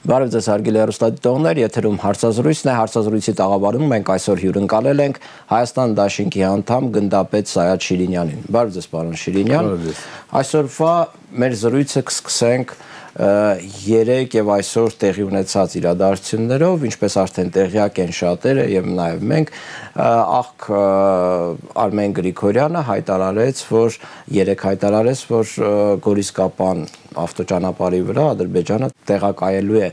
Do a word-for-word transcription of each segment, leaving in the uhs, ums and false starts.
Բարև ձեզ հարգելի հեռուստադիտողներ, եթերում հարցազրույցն է, հարցազրույցի տաղավարում մենք այսօր հյուրընկալել ենք Հայաստան դաշինքի անդամ գնդապետ Սայաթ Շիրինյանին։ Բարև ձեզ, պարոն Շիրինյան։ Այսօրվա մեր զրույցը կսկսենք երեք եւ այսօր տեղի ունեցած իրադարձություններով, ինչպես արդեն տեղյակ են շատերը եւ նաեւ մենք, աղք Արմեն Գրիգորյանը հայտարարեց, որ երեք հայտարարեց, որ Գորիսկապան ավտոճանապարհի վրա Ադրբեջանը տեղակայելու է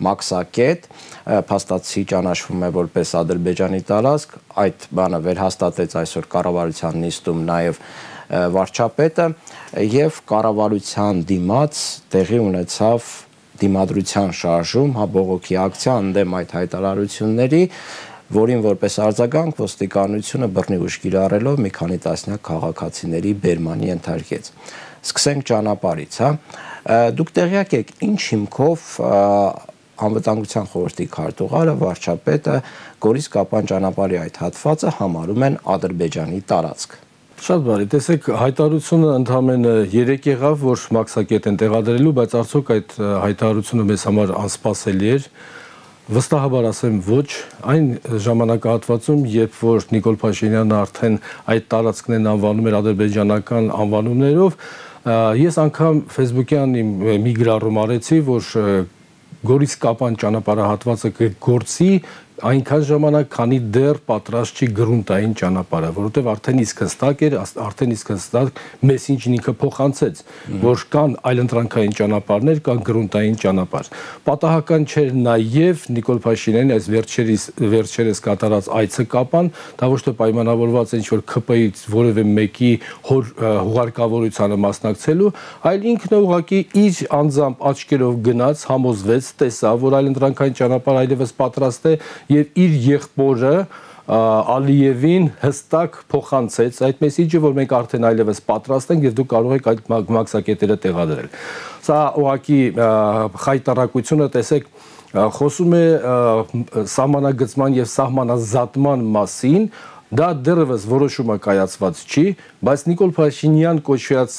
մաքսակետ, փաստացի ճանաչվում է որպես Ադրբեջանի տարածք, այդ բանը վերհաստատեց այսօր կառավարության նիստում նաեւ վարչապետը եւ կառավարության դիմաց տեղի ունեցավ դիմադրության շարժում, հա բողոքի ակցիա ընդդեմ այդ հայտարարությունների, որին որպես արձագանք ոստիկանությունը բռնի ուժ կիրառելով մի քանի տասնյակ քաղաքացիների բերմանի ենթարկեց։ Սկսենք ճանապարհից, հա։ Դուք տեղյակ եք ինչ հիմքով անվտանգության խորհրդի քարտուղարը վարչապետը Գորիսկապան ճանապարհի այդ հատվածը համարում են Ադրբեջանի տարածք։ Շատ բարի, տեսեք, հայտարարությունը ընդամենը երեք եղավ, որ մաքսակետ են տեղադրելու, բայց արդյոք այդ հայտարարությունը մեզ համար անսպասելի էր։ Վստահաբար ասեմ ոչ, այն ժամանակահատվածում, երբ որ Նիկոլ Փաշինյանը արդեն այդ տարածքներն անվանում էր ադրբեջանական անվանումներով, ես անգամ Facebook-յան մի գրառում արեցի, որ Գորիսկապան ճանապարհահատվածը կգործի այնքան ժամանակ, քանի դեռ պատրաստ չի գրունտային ճանապարհը, որովհետև արդեն իսկ հստակ էր, արդեն իսկ հստակ մեսիջն ինքը փոխանցեց, որ կան այլընտրանքային ճանապարհներ, կան գրունտային ճանապարհ։ Պատահական չէր նաև Նիկոլ Փաշինյանի այս վերջերս վերջերս կատարած այցը Կապան, դա ոչ թե պայմանավորված է ինչ-որ ՔՊ-ից որևէ մեկի հուղարկավորությանը մասնակցելու, այլ ինքն է ուղղակի իր անձամբ աչքերով գնաց, համոզվեց, տեսավ, որ այլընտրանքային ճանապարհ այլևս պատրաստ է եւ իր եղբորը Ալիևին հստակ փոխանցեց այդ մեսիջը, որ մենք արդեն այլևս պատրաստ ենք եւ դուք կարող եք այդ մաքսակետերը տեղադրել։ Սա ուղղակի խայտարակությունը, տեսեք, խոսում է սահմանագծման եւ սահմանազատման մասին, դա դեռևս որոշումը կայացված չի, բայց Նիկոլ Փաշինյան կոչված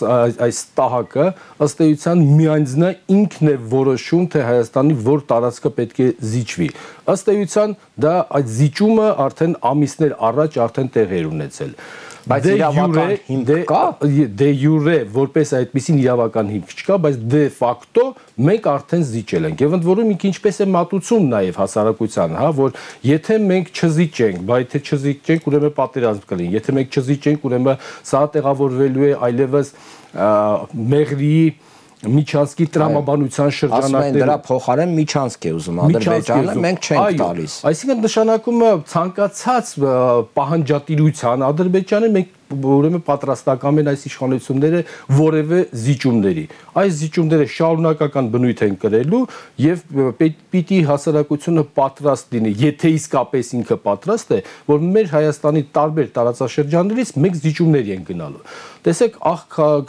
այս տահակը ըստ էության միանձնա ինքն է որոշում, թե Հայաստանի որ տարածքը պետք է զիջվի։ Ըստ էության դա այդ զիջումը արդեն ամիսներ առաջ արդեն տեղի էր ունեցել։ Բայց իրավական հիմք կա, դե յուրե որպես այդպիսին իրավական հիմք չկա, բայց դե ֆակտո մենք արդեն զիջել ենք։ Եվ ընդ որում ինքը ինչպես է մատուցում նաև հասարակության, հա, որ եթե մենք չզիջենք, բայց եթե չզիջենք, ուրեմն պատերազմ կլինի։ Եթե մենք չզիջենք, ուրեմն սա տեղավորվելու է այլևս Մեղրիի Միջանցքի տրամաբանության շրջանակները։ Ասում են դրա փոխարեն Միջանցք է ուզում Ադրբեջանը, մենք չենք տալիս։ Այսինքն նշանակում է ցանկացած պահանջատիրության Ադրբեջանը մենք ուրեմն պատրաստական են այս իշխանությունները որևէ զիջումների։ Այս զիջումները շարունակական բնույթ են կրելու եւ պիտի հասարակությունը պատրաստ լինի, եթե իսկապես ինքը պատրաստ է, որ մեր Հայաստանի տարբեր տարածաշրջաններից մենք զիջումների են գնալու։ Տեսեք, աղ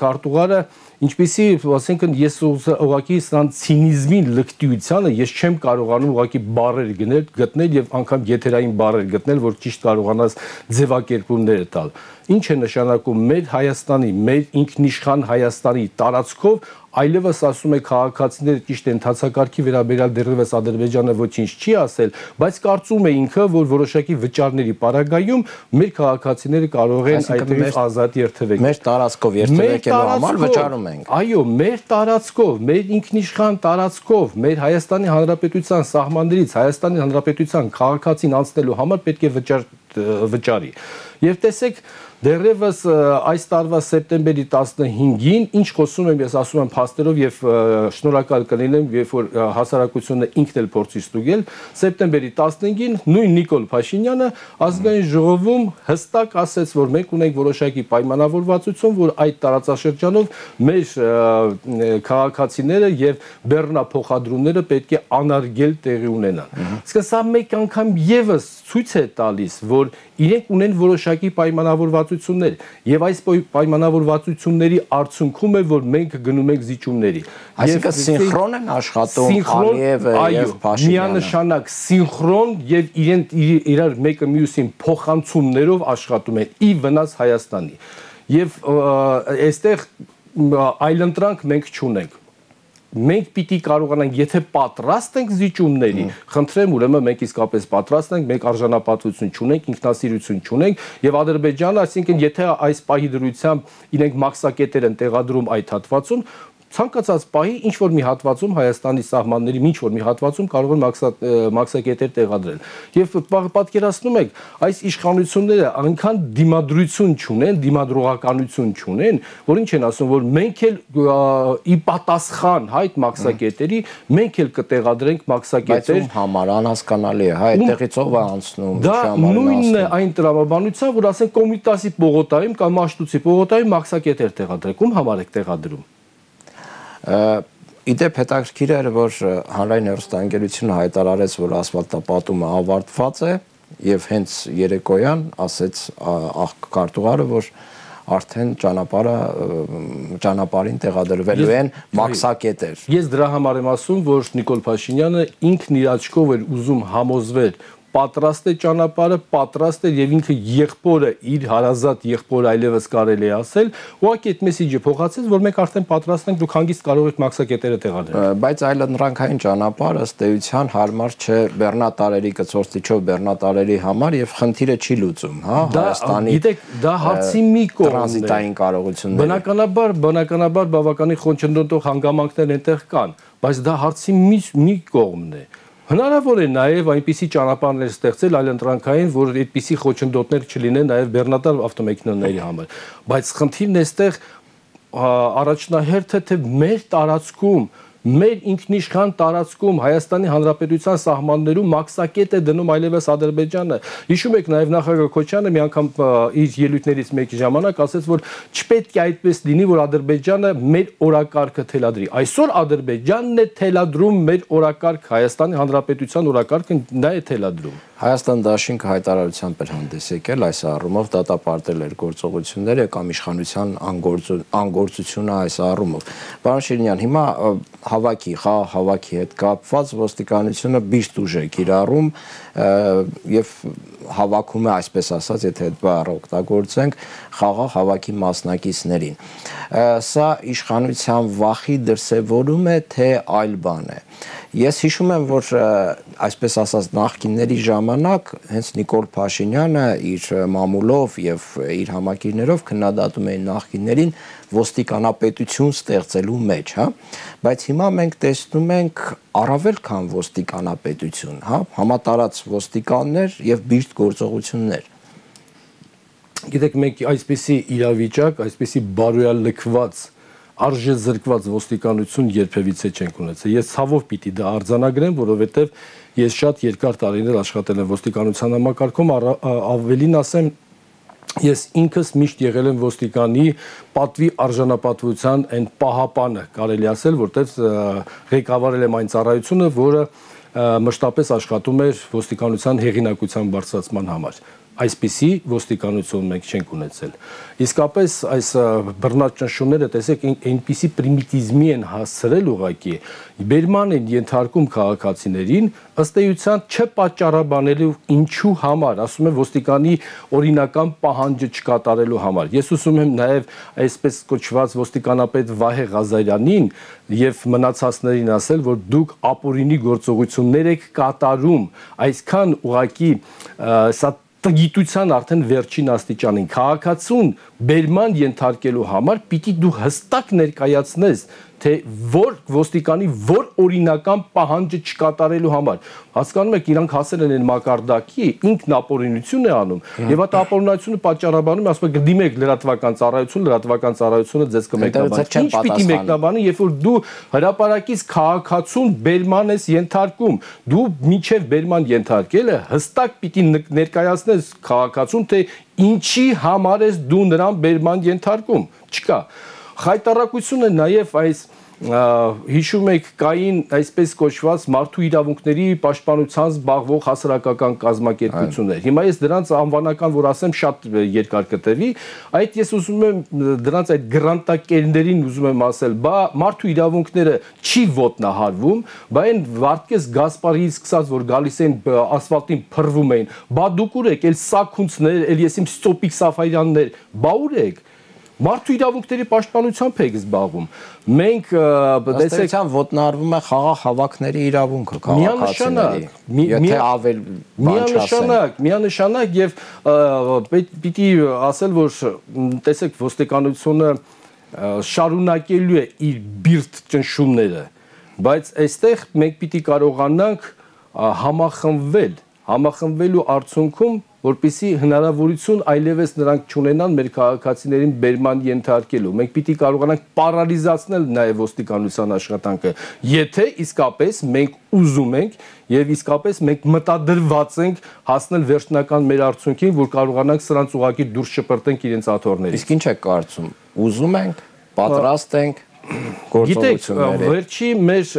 քարտուղարը ինչպեսի, ասենք, ես ուղղակի սան ցինիզմին լկտիությանը ես չեմ կարողանում ուղղակի բառեր գնել, գտնել եւ անգամ եթերային բառեր գտնել, որ ճիշտ կարողանաս ձևակերպումները տալ։ Ինչ է նշանակում մեր Հայաստանի, մեր ինքնիշխան Հայաստանի տարածքով այլևս ասում է քաղաքացիները ճիշտ է ընթացակարգի վերաբերյալ դեռևս Ադրբեջանը ոչինչ չի ասել, բայց կարծում է ինքը, որ որոշակի վճարների պարագայում մեր քաղաքացիները կարող են այդտեղից ազատ երթևեկել։ Մեր տարածքով երթևեկելու համար վճարում ենք։ Այո, մեր տարածքով, մեր ինքնիշխան տարածքով, մեր Հայաստանի Հանրապետության սահմաններից Հայաստանի Հանրապետության քաղաքացին անցնելու համար պետք է վճար վճարի։ Եվ տեսեք, դեռևս այս տարվա սեպտեմբերի տասնհինգին ինչ խոսում եմ, ես ասում եմ փաստերով եւ շնորհակալ կլինեմ, երբ որ հասարակությունը ինքն էլ փորձի ստուգել, սեպտեմբերի տասնհինգին նույն Նիկոլ Փաշինյանը ազգային ժողովում հստակ ասեց, որ մենք ունենք որոշակի պայմանավորվածություն, որ այդ տարածաշրջանով մեր քաղաքացիները եւ բեռնափոխադրումները պետք է անարգել տեղի ունենան։ Իսկ սա մեկ անգամ եւս ցույց է տալիս, որ իրենք ունեն որոշակի պայմանավորվածություններ եւ այս պայմանավորվածությունների արդյունքում է, որ մենք գնում ենք զիջումների։ Այսինքն սինխրոն են աշխատում Ալիևը եւ Փաշինյանը։ Միանշանակ սինխրոն եւ իրենք իրար մեկը մյուսին փոխանցումներով աշխատում են ի վնաս Հայաստանի։ Եվ այստեղ այլընտրանք մենք չունենք։ մենք պիտի կարողանանք, եթե պատրաստ ենք զիջումների, խնդրեմ, ուրեմն մենք իսկապես պատրաստ ենք, մենք արժանապատվություն չունենք, ինքնասիրություն չունենք, եւ Ադրբեջանը, այսինքն, եթե այս պահի դրությամբ իրենք մաքսակետեր են տեղադրում այդ հատվածում, ցանկացած պահի ինչ որ մի հատվածում Հայաստանի սահմանների ինչ որ մի հատվածում կարող են մաքսակետեր տեղադրել։ Եվ պատկերացնում եք, այս իշխանությունները այնքան դիմադրություն չունեն, դիմադրողականություն չունեն, որ ինչ են ասում, որ մենք էլ ի պատասխան այդ մաքսակետերի մենք էլ կտեղադրենք մաքսակետեր։ Բայց ում համար անհասկանալի է, հա, այդտեղից ով է անցնում։ Դա նույնն է այն տրամաբանության, որ ասենք Կոմիտասի պողոտայում կամ Մաշտոցի պողոտայում մաքսակետեր տեղադրեք, ում համար եք տեղադրում։ Իդեպ հետաքրքիր էր, որ հանրային հեռուստաընկերությունը հայտարարեց, որ ասֆալտապատումը ավարտված է եւ հենց երեկոյան ասեց աղքարտուղարը, որ արդեն ճանապարհը ճանապարհին տեղադրվելու են մաքսակետեր։ Ես դրա համար եմ ասում, որ Նիկոլ Փաշինյանը ինքն իր աչքով էր ուզում համոզվել պատրաստ է ճանապարհը, պատրաստ է եւ ինքը եղբորը իր հարազատ եղբորը այլևս կարելի է ասել, ուղղակի այդ մեսիջը փոխացեց, որ մենք արդեն պատրաստ ենք, դուք հանգիստ կարող եք մաքսակետերը տեղադրել։ Բայց այլընտրանքային ճանապարհը ըստ էության հարմար չէ բեռնատարերի կցորտիչով բեռնատարերի համար եւ խնդիրը չի լուծում, հա, Հայաստանի։ Գիտեք, դա հարցի մի կողմն է։ Տրանզիտային կարողությունները։ Բնականաբար, բնականաբար բավականին խոչընդոտող հանգամանքներ այնտեղ կան, բայց դա հարցի մի մի կողմն է։ Հնարավոր է նաև այնպիսի ճանապարհներ ստեղծել այլընտրանքային, որ այդպիսի խոչընդոտներ չլինեն նաև բեռնատար ավտոմեքենաների համար, բայց խնդիրն էստեղ առաջնահերթը թե մեր տարածքում, մեր ինքնիշխան տարածքում Հայաստանի Հանրապետության սահմաններում մաքսակետ է դնում այլևս Ադրբեջանը։ Հիշում եք նաև նախագահ Քոչյանը մի անգամ իր ելույթներից մեկի ժամանակ ասեց, որ չպետք է այդպես լինի, որ Ադրբեջանը մեր օրակարգը թելադրի։ Այսօր Ադրբեջանն է թելադրում մեր օրակարգ, Հայաստանի Հանրապետության օրակարգը նա է թելադրում։ Հայաստան դաշինքը հայտարարությամբ էր հանդես եկել այս առումով դատապարտել էր գործողությունները կամ իշխանության անգործությունը այս առումով։ Պարոն Շիրինյան, հիմա հավաքի, խաղ հավաքի հետ կապված ոստիկանությունը բիշտ ուժ է կիրառում եւ հավաքում է, այսպես ասած, եթե այդ բառը օգտագործենք, խաղաղ հավաքի մասնակիցներին։ Սա իշխանության վախի դրսևորում է, թե այլ բան է։ Ես հիշում եմ, որ այսպես ասած նախկինների ժամանակ հենց Նիկոլ Փաշինյանը իր մամուլով եւ իր համակիրներով քննադատում էին նախկիններին ոստիկանապետություն ստեղծելու մեջ, հա, բայց հիմա մենք տեսնում ենք առավել քան ոստիկանապետություն, հա, համատարած ոստիկաններ եւ բիշտ գործողություններ։ Գիտեք, մենք այսպիսի իրավիճակ, այսպիսի բարոյալ լքված արժեզրկված ոստիկանություն երբևիցե չենք ունեցել։ Ես ցավով պիտի դա արձանագրեմ, որովհետև ես շատ երկար տարիներ աշխատել եմ ոստիկանության համակարգում, ավելին ասեմ, ես ինքս միշտ եղել եմ ոստիկանի պատվի արժանապատվության այն պահապանը, կարելի ասել, որտեղ ղեկավարել եմ այն ծառայությունը, որը մշտապես աշխատում էր ոստիկանության հեղինակության բարձրացման համար։ Այսպիսի ոստիկանություն մենք չենք ունեցել։ Իսկապես այս բռնաճնշումները, տեսեք, այնպիսի պրիմիտիզմի են հասցրել ուղղակի, բերման են ենթարկում քաղաքացիներին, ըստ էության չպատճառաբանելու ինչու համար, ասում եմ ոստիկանի օրինական պահանջը չկատարելու համար։ Ես ուսում եմ նաև այսպես կոչված ոստիկանապետ Վահե Ղազարյանին եւ մնացածներին ասել, որ դուք ապօրինի գործողություններ եք կատարում, այսքան ուղղակի սա տգիտության արդեն վերջին աստիճանին քաղաքացուն բերման ենթարկելու համար պիտի դու հստակ ներկայացնես, թե որ ոստիկանի որ օրինական պահանջը չկատարելու համար։ Հասկանում եք, իրանք հասել են այն մակարդակի, ինքն ապօրինություն է անում եւ այդ ապօրինությունը պատճառաբանում է, ասում է դիմեք լրատվական ծառայություն, լրատվական ծառայությունը ձեզ կմեկնաբանի։ Ինչ պիտի մեկնաբանի, երբ որ դու հրապարակից քաղաքացուն բերման ես ենթարկում, դու միջև բերման ենթարկելը հստակ պիտի ներկայացնես քաղաքացուն, թե ինչի համար ես դու նրան բերման ենթարկում։ Չկա։ Խայտառակությունը նաև այս հիշում եք կային այսպես կոչված մարդու իրավունքների պաշտպանության զբաղվող հասարակական կազմակերպություններ։ Հիմա ես դրանց անվանական որ ասեմ շատ երկար կտևի, այդ ես ուզում եմ դրանց այդ գրանտակերներին ուզում եմ ասել, բա մարդու իրավունքները չի ոտնահարվում, բա այն Վարդգես Գասպարիից սկսած որ գալիս են ասֆալտին փռվում էին, բա դուք ուր եք, էլ սաքունցներ, էլ ես իմ Ստոպիկ Սաֆարյաններ, բա ուր եք։ Մարդու իրավունքների պաշտպանությամբ եք զբաղվում։ Մենք տեսեք ոտնարվում է խաղաղ հավաքների իրավունքը քաղաքացիների։ Եթե ավել բան չասեն։ Միանշանակ, միանշանակ եւ պիտի ասել, որ տեսեք ոստիկանությունը շարունակելու է իր բիրտ ճնշումները, բայց այստեղ մենք պիտի կարողանանք համախմբվել, համախմբվելու արդյունքում, որպեսզի հնարավորություն այլևս նրանք չունենան մեր քաղաքացիներին բերման ենթարկելու։ Մենք պիտի կարողանանք պարալիզացնել նաև ոստիկանության աշխատանքը, եթե իսկապես մենք ուզում ենք եւ իսկապես մենք մտադրված ենք հասնել վերջնական մեր արդյունքին, որ կարողանանք սրանց ուղղակի դուրս շպրտենք իրենց աթոռներից։ Իսկ ինչ է կարծում, ուզում ենք, պատրաստ ենք Գիտեք, վերջի մեր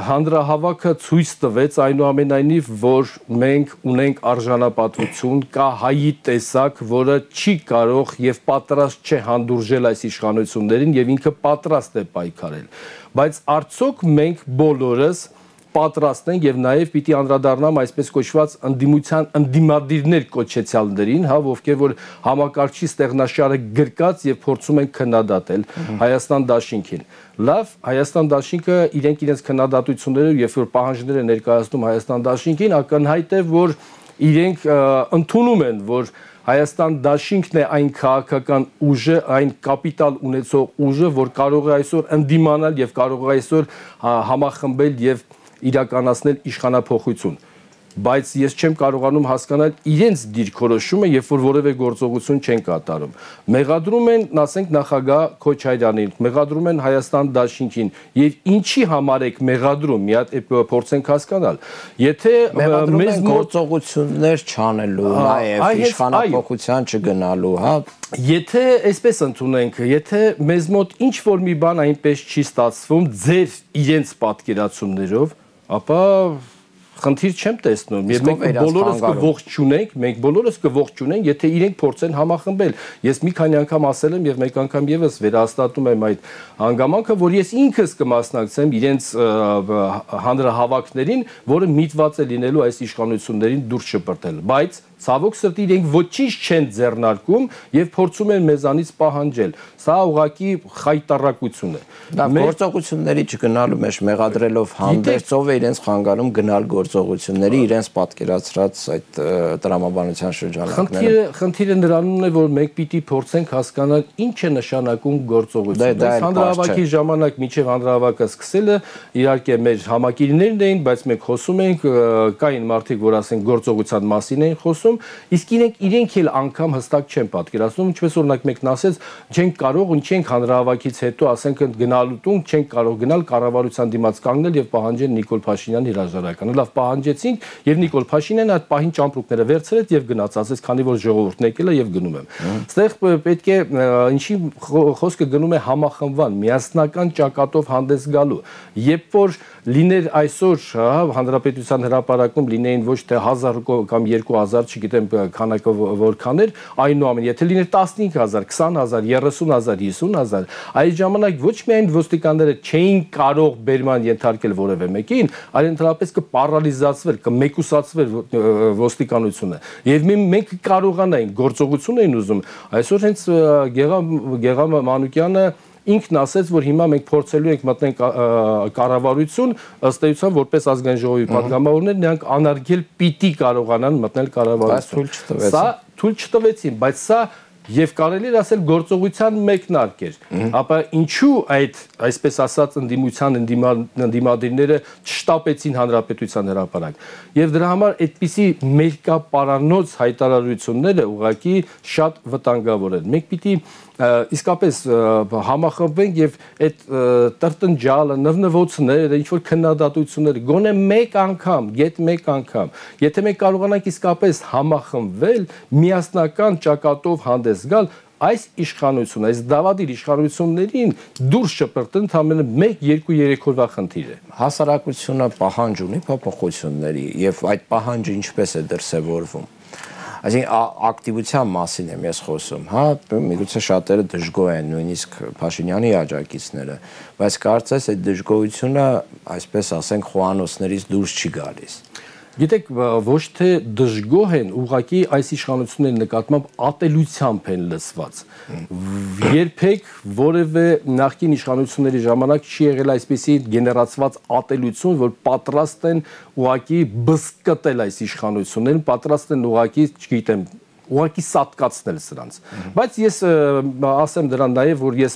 հանրահավաքը ցույց տվեց այնուամենայնիվ, որ մենք ունենք արժանապատվություն, կա հայի տեսակ, որը չի կարող եւ պատրաստ չէ հանդուրժել այս իշխանություններին եւ ինքը պատրաստ է պայքարել։ Բայց արդյոք մենք բոլորս պատրաստ ենք եւ նաեւ պիտի անդրադառնամ այսպես կոչված ընդդիմության ընդդիմադիրներ կոչեցյալներին, հա, ովքեր որ համակարգչի ստեղնաշարը գրկած եւ փորձում են քննադատել Հայաստան դաշինքին։ Լավ, Հայաստան դաշինքը իրենք իրենց քննադատություններով երբ որ պահանջներ են ներկայացնում Հայաստան դաշինքին, ակնհայտ է, որ իրենք ընդունում են, որ Հայաստան դաշինքն է այն քաղաքական ուժը, այն կապիտալ ունեցող ուժը, որ կարող է այսօր ընդդիմանալ եւ կարող է այսօր համախմբել եւ իրականացնել իշխանափոխություն, բայց ես չեմ կարողանում հասկանալ իրենց դիրքորոշումը, երբ որ որևէ գործողություն չեն կատարում։ Մեղադրում են, ասենք, նախագահ Քոչարյանին, մեղադրում են Հայաստան դաշինքին, եւ ինչի համար եք մեղադրում, մի հատ փորձենք հասկանալ։ Եթե մեզ գործողություններ չանելու, նաեւ իշխանափոխության չգնալու, հա, եթե այսպես ընդունենք, եթե մեզ մոտ ինչ որ մի բան այնպես չի ստացվում ձեր իրենց պատկերացումներով, ապա խնդիր չեմ տեսնում, եւ մենք բոլորս կողջունենք, մենք բոլորս կողջունենք, եթե իրենք փորձեն համախմբել։ Ես մի քանի անգամ ասել եմ եւ մեկ անգամ եւս վերահաստատում եմ այդ հանգամանքը, որ ես ինքս կմասնակցեմ իրենց հանրահավաքներին, որը միտված է լինելու այս իշխանություններին դուրս շպրտել, բայց ցավոք սրտի իրենք ոչինչ չեն ձեռնարկում եւ փորձում են մեզանից պահանջել։ Սա ուղղակի խայտարակություն է։ Դա գործողությունների չգնալու մեջ մեղադրելով հանդերձով է իրենց խանգարում գնալ գործողությունների իրենց պատկերացրած այդ տրամաբանության շրջանակները։ Խնդիրը նրանում է, որ մենք պիտի փորձենք հասկանալ ինչ է նշանակում գործողություն։ Հանրահավաքի ժամանակ միջև հանրահավաքը սկսելը իհարկե մեր համակիրներն էին, բայց մենք խոսում ենք, կային մարդիկ, որ ասենք գործողության մասին էին խոսում, իսկ իրենք իրենք էլ անգամ հստակ չեն պատկերացնում, ինչպես օրինակ մեկն ասեց, չենք կարող, չենք հանրահավաքից հետո ասենք գնալու տուն, չենք կարող գնալ կառավարության դիմաց կանգնել եւ պահանջել Նիկոլ Փաշինյանի հրաժարականը։ Լավ, պահանջեցինք եւ Նիկոլ Փաշինյանը այդ պահին ճամպրուկները վերցրեց եւ գնաց, ասեց, քանի որ ժողովուրդն եկել է եւ գնում եմ։ Այստեղ պետք է ինչի խոսքը գնում է համախմբման, միասնական ճակատով հանդես գալու։ Երբ որ լիներ այսօր, հա, հանրապետության հրապարակում լինեին ոչ թե հազար կամ երկու հազար, չգիտեմ քանակը որքան էր, այնուամենայնիվ եթե լիներ տասնհինգ հազար, քսան հազար, երեսուն հազար, հիսուն հազար, այդ ժամանակ ոչ միայն ոստիկանները չէին կարող բերման ենթարկել որևէ մեկին, այլ ընդհանրապես կպարալիզացվեր, կմեկուսացվեր ոստիկանությունը։ Եվ մենք կարողանայինք գործողություն էին ուզում, այսօր հենց Գեգամ Մանուկյանը ինքն ասեց, որ հիմա մենք փորձելու ենք մտնել կառավարություն, ըստ էության որպես ազգային ժողովի պատգամավորներ, նրանք անարգել պիտի կարողանան մտնել կառավարություն։ Սա թույլ չտվեցին, բայց սա եւ կարելի է ասել գործողության մեկնարկ էր։ Ապա ինչու այդ այսպես ասած ընդդիմության ընդդիմադիրները չշտապեցին հանրապետության հրապարակ։ Եվ դրա համար այդպիսի մերկապարանոց հայտարարությունները ուղղակի շատ վտանգավոր են։ Մենք պիտի իսկապես համախմբենք եւ այդ տրտնջալը, նվնվոցները, ինչ որ քննադատությունները գոնե մեկ անգամ, գետ մեկ անգամ, եթե մենք կարողանանք իսկապես համախմբվել, միասնական ճակատով հանդես գալ, այս իշխանությունը, այս դավադիր իշխանություններին դուրս շպրտել ընդամենը մեկ երկու երեք օրվա խնդիր է։ Հասարակությունը պահանջ ունի փոփոխությունների եւ այդ պահանջը ինչպես է դրսեւորվում։ Այսինքն ակտիվության մասին եմ ես խոսում, հա, միգուցե շատերը դժգոհ են, նույնիսկ Փաշինյանի աջակիցները, բայց կարծես այդ դժգոհությունը, այսպես ասենք, խոհանոցներից դուրս չի գալիս։ Գիտեք, ոչ թե դժգոհ են, ուղղակի այս իշխանությունների նկատմամբ ատելությամբ են լսված։ Երբեք որևէ նախկին իշխանությունների ժամանակ չի եղել այսպիսի գեներացված ատելություն, որ պատրաստ են ուղղակի բզկտել այս իշխանություններին, պատրաստ են ուղղակի, չգիտեմ, ուղղակի սատկացնել սրանց։ Բայց ես ասեմ դրան նաև, որ ես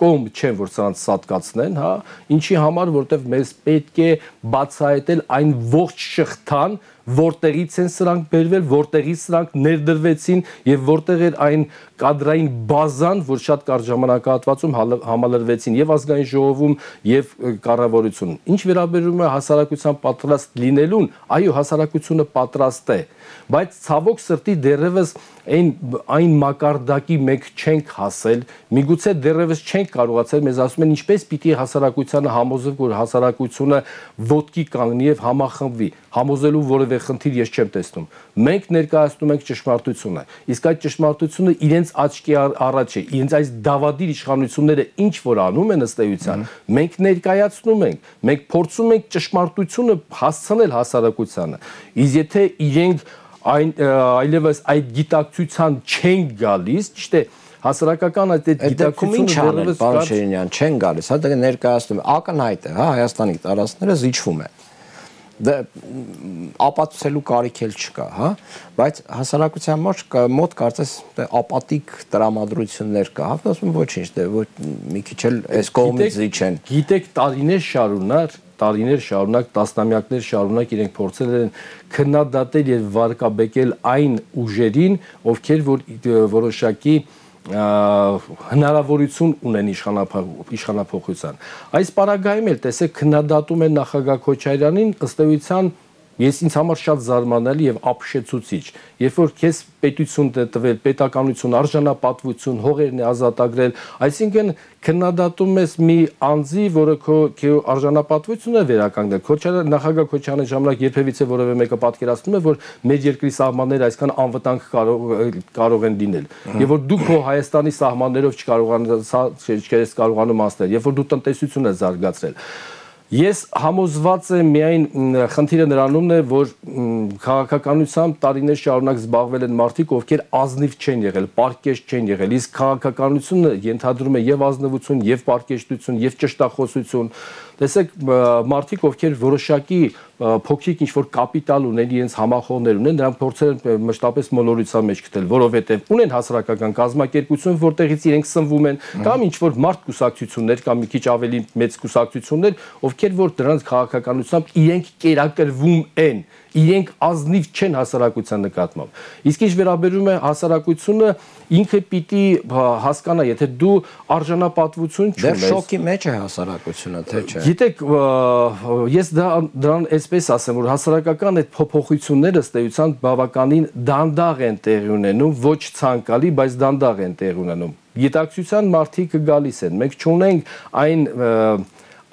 կողմ չեմ, որ սրանց սատկացնեն, հա, ինչի համար, որտեղ մեզ պետք է բացահայտել այն ողջ շղթան, որտեղից են սրանք բերվել, որտեղից սրանք ներդրվեցին եւ որտեղ էր այն կադրային բազան, որ շատ կարճ ժամանակահատվածում համալրվեցին եւ ազգային ժողովում եւ կառավարությունում։ Ինչ վերաբերում է հասարակության պատրաստ լինելուն, այո, հասարակությունը պատրաստ է, բայց ցավոք սրտի դեռևս այն այն մակարդակի մենք չենք հասել, միգուցե դեռևս չենք կարողացել, մեզ ասում են ինչպես պիտի հասարակությանը համոզել, որ հասարակությունը ոտքի կանգնի եւ համախմբվի, համոզելու որևէ խնդիր ես չեմ տեսնում։ Մենք ներկայացնում ենք ճշմարտությունը, իսկ այդ ճշմարտությունը իրենց աչքի առաջ է, իրենց այս դավադիր իշխանությունները ինչ որ անում են ըստ էության, մենք ներկայացնում ենք, մենք փորձում ենք ճշմարտությունը հասցնել հասարակությանը։ Իսկ եթե իրենք այն այլևս այդ գիտակցության չեն գալիս, ճիշտ է, հասարակական այդ գիտակցությունը դեռևս պարոն Շիրինյան չեն գալիս, հա դա ներկայացնում է, ակնհայտ է, հա, Հայաստանի տարածքները զիջվում են։ Դա ապացուցելու կարիք էլ չկա, հա, բայց հասարակության մոտ կարծես ապատիկ տրամադրություններ կա, հա, ասում ոչինչ, դե ոչ մի քիչ էլ այս կողմից զիջեն։ Գիտեք, տարիներ շարունակ տարիներ շարունակ, տասնամյակներ շարունակ իրենք փորձել են քննադատել եւ վարկաբեկել այն ուժերին, ովքեր որ որոշակի հնարավորություն ունեն իշխանափոխության։ Այս պարագայում էլ տեսեք քննադատում են նախագահ Քոչարյանին, ըստ էության ես ինձ համար շատ զարմանալի եւ ապշեցուցիչ, երբ որ քեզ պետություն տվել, պետականություն, արժանապատվություն, հողերն է ազատագրել, այսինքն քննադատում ես մի անձի, որը քո արժանապատվությունը վերականգնել։ Քոչարյան նախագահ Քոչարյանի ժամանակ երբևիցե որևէ մեկը պատկերացնում է, որ մեր երկրի սահմանները այսքան անվտանգ կարող են լինել, եւ որ դու քո Հայաստանի սահմաններով չկարողանաս կարողանում անցնել, երբ որ դու տնտեսություն ես զարգացրել։ Ես համոզված եմ միայն խնդիրը նրանումն է, որ քաղաքականությամբ տարիներ շարունակ զբաղվել են մարդիկ, ովքեր ազնիվ չեն եղել, պարկեշտ չեն եղել, իսկ քաղաքականությունը ենթադրում է եւ ազնվություն, եւ պարկեշտություն, եւ ճշտախոսություն։ Տեսեք, մարդիկ, ովքեր որոշակի փոքրիկ ինչ-որ կապիտալ ունեն, իրենց համախոհներ ունեն, նրանք փորձել են մշտապես մոլորության մեջ գտնել, որովհետև ունեն հասարակական կազմակերպություն, որտեղից իրենք սնվում են, կամ ինչ-որ մարդ կուսակցություններ, կամ մի քիչ ավելի մեծ կուսակցություններ, ովքեր որ դրանց քաղաքականությամբ իրենք կերակրվում են, իրենք ազնիվ չեն հասարակության նկատմամբ։ Իսկ ինչ վերաբերում է հասարակությունը, ինքը պիտի հասկանա, եթե դու արժանապատվություն չունես։ Դեռ շոկի մեջ է հասարակությունը, թե չէ։ Գիտեք, ես դրան այսպես ասեմ, որ հասարակական այդ փոփոխությունները ըստ էության բավականին դանդաղ են տեղի ունենում, ոչ ցանկալի, բայց դանդաղ են տեղի ունենում։ Գիտակցության մարդիկ գալիս են։ Մենք չունենք այն